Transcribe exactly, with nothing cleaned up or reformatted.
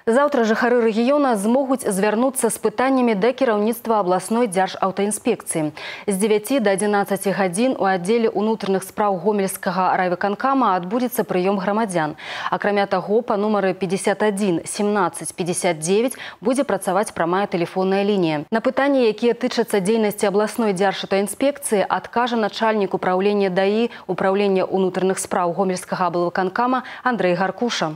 Заўтра жыхары рэгіёна змогуць звярнуцца з пытаннямі да кіраўніцтва абласной дзяржаўтаінспекцыі. З дзевяці да адзінаццаці гадзін у аддзеле ўнутраных спраў гомельскага райвыканкама адбудзецца прыём грамадзян. Акрамя таго, па нумары пятьдесят один семнадцать пятьдесят девять будзе працаваць прамая тэлефонная лінія. На пытанні, якія тычацца дзейнасці абласной дзяржаўтаінспекцыі, адкажа начальнік управлення ДАІ управлення ўнутраных спраў гомельскага аблвыканкама Андрэй Гаркуша.